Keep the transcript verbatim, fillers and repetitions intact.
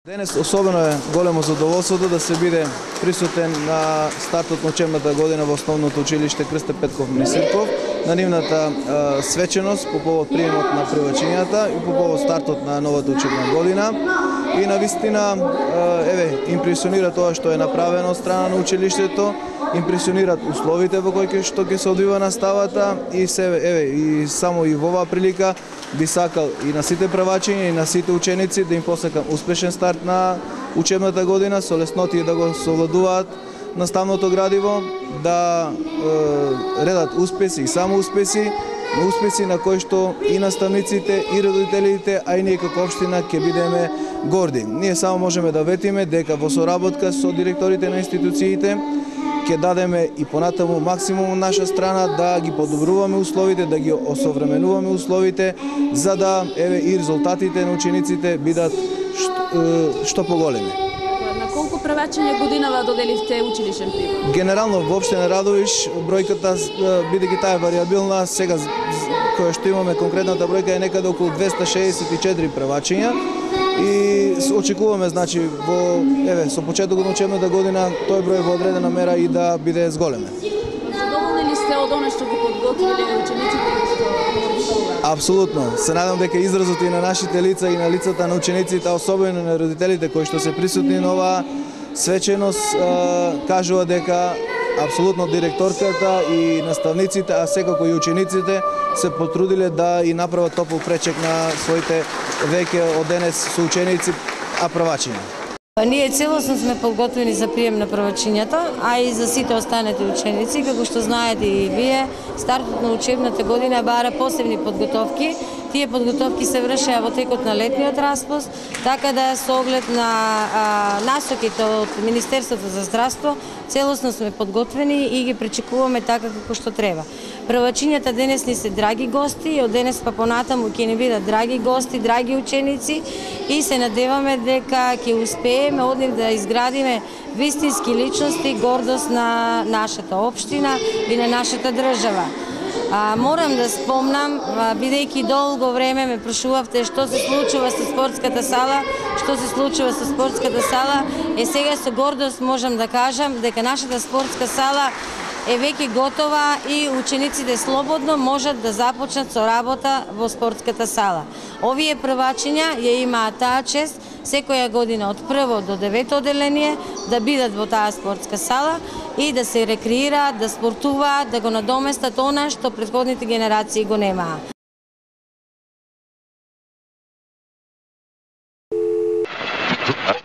Денес особено е големо задоволството да се биде присутен на стартот на учебната година во основното училиште Крсте Петков Минисирков, на нивната е, свеченост по повод приемот на привачињата и по повод стартот на новата учебна година. И навистина, е, еве, импресионира тоа што е направено од страна на училиштето, импресионират условите во кои што ќе се одвива наставата и се еве и само и во оваа прилика би сакал и на сите превачиња и на сите ученици да им посакам успешен старт на учебната година, со леснотија да го совладуваат наставното градиво, да е, редат успеси и само успеси, успеси на кои што и наставниците, и родителите, а и ние како општина ќе бидеме горди. Ние само можеме да ветиме дека во соработка со директорите на институциите ќе дадеме и понатаму максимум од наша страна да ги подобруваме условите, да ги осовременуваме условите, за да еве и резултатите на учениците бидат што, што поголеми. На колку превачиња годинава доделивте училишен прибор? Генерално во општина Радовиш бројката, бидејќи таа е варијабилна, сега која што имаме конкретната бројка е некаде околу двеста шеесет и четири превачиња. И очекуваме, значи, во еве со почетокот на учебната година тој број во одредена мера и да биде зголемен. Задоволни ли сте од она што ги подготвиле учениците што Апсолутно. Се надам дека изразот и на нашите лица и на лицата на учениците, особено на родителите кои што се присутни на оваа свеченост, кажува дека апсолутно директорката и наставниците, а секако и учениците се потрудиле да и направат топол пречек на своите веќе од денес соученици, а првачиња. Ние целосно сме подготвени за прием на првачињата, а и за сите останати ученици. Како што знаете и вие, стартот на учебната година бара посебни подготовки. Тие подготовки се вршеа во текот на летниот распуст, така да со оглед на а, насоките од Министерството за здравство, целосно сме подготвени и ги пречекуваме така како што треба. Првачињата денес ни се драги гости и од денес па понатаму ќе ни бидат драги гости, драги ученици и се надеваме дека ќе успееме од нив да изградиме вистински личности, гордост на нашата општина и на нашата држава. А, морам да спомнам, бидејќи долго време ме прашувавте што се случува со спортската сала, што се случува со спортската сала, е сега со гордост можам да кажам дека нашата спортска сала е веќе готова и учениците слободно можат да започнат со работа во спортската сала. Овие првачиња ја имаат таа чест секоја година од прво до девето одделение да бидат во таа спортска сала и да се рекреираат, да спортуваат, да го надоместат она што претходните генерации го немаа. Uh